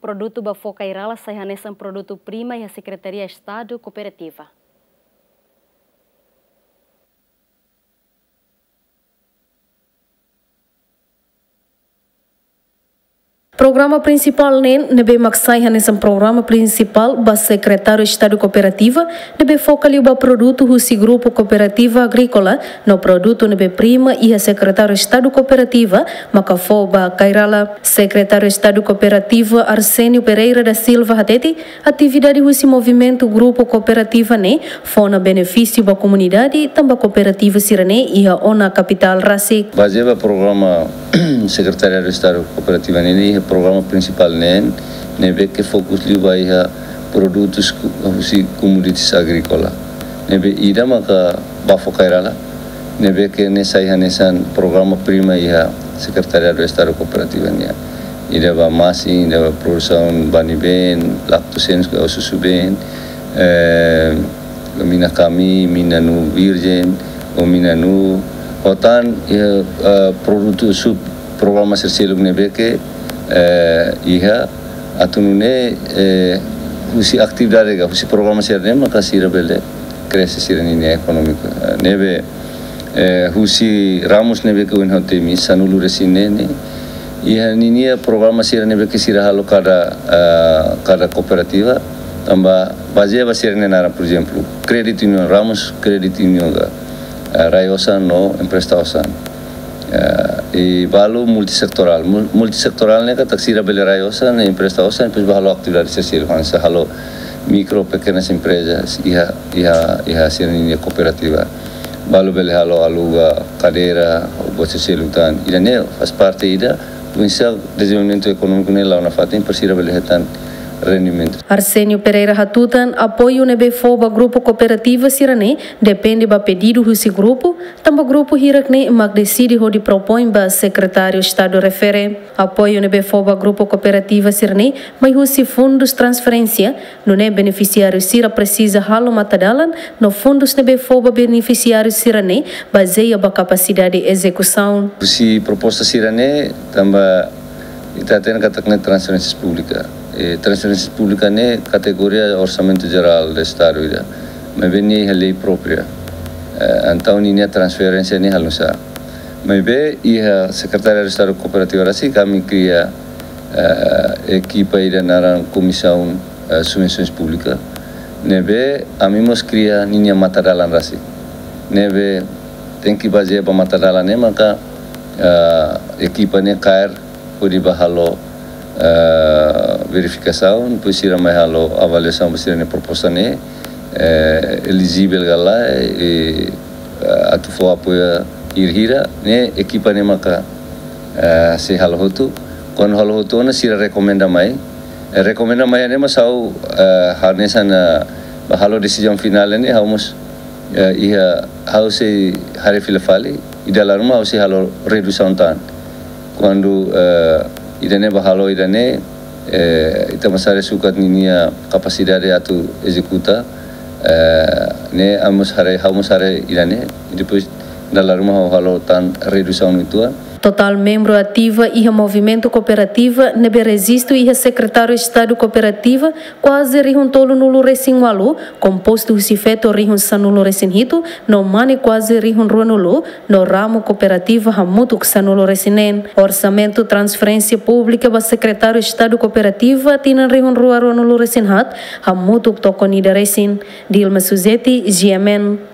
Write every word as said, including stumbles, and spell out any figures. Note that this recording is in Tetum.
Produtu ba fó kairala sai hanesan produtu prima iha Sekretaria Estadu Kooperativa. Programa prinsipál neen, ne'ebé mak sai hanesan programa prinsipál ba Sekretáriu Estadu Kooperativa, ne'ebé foka liu ba produtu husi grupu kooperativa agríkola, no produtu ne'ebé prima iha Sekretáriu Estadu Kooperativa maka fó ba kairala. Sekretáriu Estadu Kooperativa Arsénio Pereira da Silva hatete, atividade husi movimentu grupu kooperativa ne'e fó ona benefísiu ba komunidade, tanba kooperativa sira-ne'e iha ona kapitál rasik. Bazeia ba programa Sekretariadu Estadu Kooperativa nian, iha programa prinsipál neen, ne'ebé ke fokus liu ba iha produtus ku-, husi commodities agríkola. Ne'ebé ida maka ba fó kairala, ne'ebé ke ne'e sai hanesan programa prima iha Sekretariadu Estadu Kooperativa nian. Ida ba masin, ida ba produsaun bani-been, laktosenos ka susu-been, eh, mina kami, mina nu virjen, ou mina nu, ho tan, eh, eh, produtu sub programa sira seluk ne'ebé ke, eh, iha atu nune'e, eh, husi atividade ka, husi programa sira-ne'e maka sira bele krexe sira-ninia ekonomia. Eh, ne'ebé, eh, husi ramus ne'ebé ke ohin ha'u temi, sanulu-resin-neen ne'e, iha ninia programa sira ne'ebé ke sira halo kada, eh, kada kooperativa, tanba bazeia ba sira-nia naran, por ezemplu, credit union, ramus credit union ka, eh, rai osan no empresta osan. Eh, i balu multisetorál. Mul-, multisetorál ne'e katak sira bele rai osan, empresta osan, depois bá halo atividade sosiál, hanesan halo mikro, pekenas emprezas, iha, iha, iha sira-ninia kooperativa. Balu bele halo aluga kadeira, ou buat sosiál tan. Ida-ne'e faz parte ida, oinsá dezenvolvimentu ekonómiku ne'e la'o nafatin, para sira bele hetan rendimentu. Arsénio Pereira hatutan, apoiu ne'ebé fó ba grupu kooperativa sira-ne'e depende ba pedidu husi grupu, tanba grupu hirak-ne'e mak deside hodi propoin ba Sekretáriu Estadu refere. Apoiu ne'ebé fó ba grupu kooperativa sira-ne'e mai husi fundus transferénsia, nune'e benefisiáriu sira presiza halo matadalan, no fundus ne'ebé fó ba benefisiáriu sira-ne'e bazeia ba kapasidade ezekusaun. Husi proposta sira-ne'e, tanba ita hatene katak ne'e transferénsia públika. E transferénsia públika ne'e kategoria Orsamentu Jerál do Estadu ida. Maibé ne'e iha lei própria. Eh, entaun ninia transferénsia ne'e halo nu'usá. Maibé iha Sekretariadu Estadu Kooperativa rasik ami kria, eh, ekipa ida naran Komisaun, eh, Subvensoens Públika. Ne'ebé ami mós kria ninia matadalan rasik. Ne'ebé tenke bazeia ba matadalan ne'e maka, eh, ekipa ne'e kaer hodi bá halo, eh, verifikasaun, depois sira mai halo avaliasaun ba sira-nia proposta ne'e, eh, elijivel ka lae, eh, atu fó apoiu hira-hira, ne'e ekipa ne'e maka, eh, sei halo hotu. Kuandu halo hotu ona sira rekomenda mai. Eh, rekomenda mai ne'e mós ha'u, eh, hanesan, eh, bá halo desizaun finál ne'e ha'u mós, eh, iha ha'u sei haree fila fali, i dala ruma ha'u sei halo redusaun tan. Kuandu, eh, ida-ne'e bá halo ida-ne'e, eh, ita mós haree sukat ninia kapasidade atu ezekuta, eh, ne'e ami mós haree, ha'u mós haree ida-ne'e, i depois dala ruma ha'u halo tan redusaun uitoan. Totál membru ativa iha movimentu kooperativa ne'ebé rejistu iha Sekretáriu Estadu Kooperativa kuaze rihun tolunulu-resin-ualu, kompostu husi feto rihun sanulu-resin-hitu, no mane kuaze rihun ruanulu, no ramu kooperativa hamutuk sanulu-resin-neen. Orsamentu transferénsia públika ba Sekretáriu Estadu Kooperativa tinan rihun rua ruanulu-resin-haat hamutuk tokon ida resin. Dilma Suzeti, G M N.